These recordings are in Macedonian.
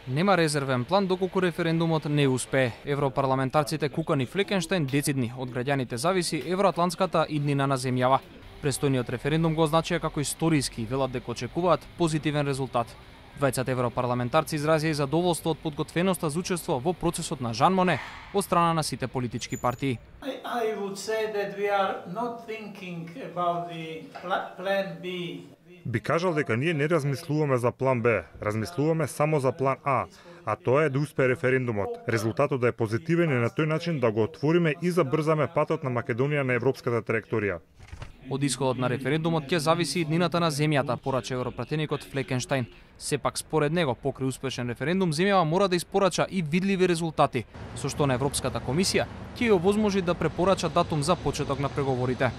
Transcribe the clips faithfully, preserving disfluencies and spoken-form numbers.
Нема резервен план доколку референдумот не успее. Европарламентарците Кукан и Флекенштајн децидни од граѓаните зависи евроатлантската иднина на земјава. Престојниот референдум го означува како историски и велат дека очекуваат позитивен резултат. Двајцата европарламентарци изразија задоволство од подготвеноста за учество во процесот на Жан Моне од страна на сите политички партии. I, I would say that we are not thinking about the plan B. Би кажал дека ние не размислуваме за план Б, размислуваме само за план А, а тоа е да успее референдумот, резултатот да е позитивен и на тој начин да го отвориме и забрзаме патот на Македонија на европската траекторија. Од исходот на референдумот ќе зависи иднината на земјата, порача европратеникот Флекенштајн. Сепак според него, покрај успешен референдум, земјава мора да испорача и видливи резултати, со што на Европската комисија ќе ја овозможи да препорача датум за почеток на преговорите.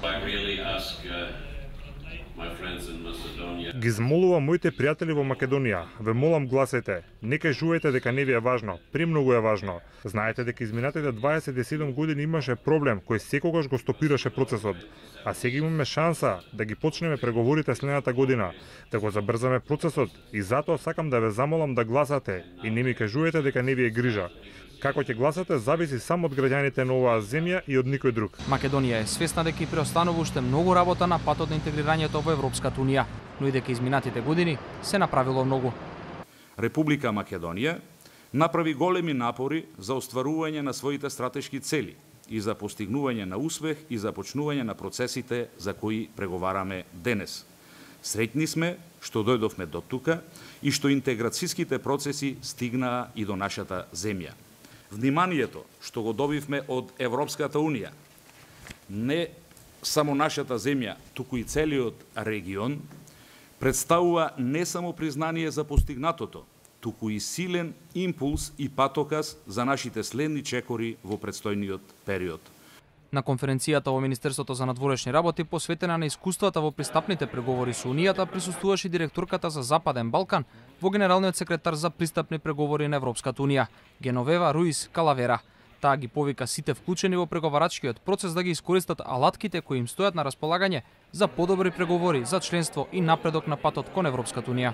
Ги змолувам моите пријатели во Македонија, ве молам гласете, не кажувајте дека не ви е важно, премногу е важно. Знаете дека изминатите дваесет и седум години имаше проблем кој секогаш го стопираше процесот, а сега имаме шанса да ги почнеме преговорите следната година, да го забрзаме процесот и затоа сакам да ве замолам да гласате и не ми кажувајте дека не ви е грижа. Како ќе гласате зависи само од граѓаните на оваа земја и од никој друг. Македонија е свесна дека и преостанува уште многу работа на патот на интегрирањето во Европската унија, но и дека изминатите години се направило многу. Република Македонија направи големи напори за остварување на своите стратешки цели и за постигнување на успех и започнување на процесите за кои преговараме денес. Среќни сме што дојдовме до тука и што интеграцијските процеси стигнаа и до нашата земја. Вниманието што го добивме од Европската унија, не само нашата земја, туку и целиот регион, представува не само признание за постигнатото, туку и силен импулс и патоказ за нашите следни чекори во предстојниот период. На конференцијата во Министерството за надворешни работи, посветена на искуствата во пристапните преговори со Унијата, присуствуваше директорката за Западен Балкан во Генералниот секретар за пристапни преговори на Европската унија, Геновева Руис Калавера. Таа ги повика сите вклучени во преговарачкиот процес да ги искористат алатките кои им стојат на располагање за подобри преговори за членство и напредок на патот кон Европската унија.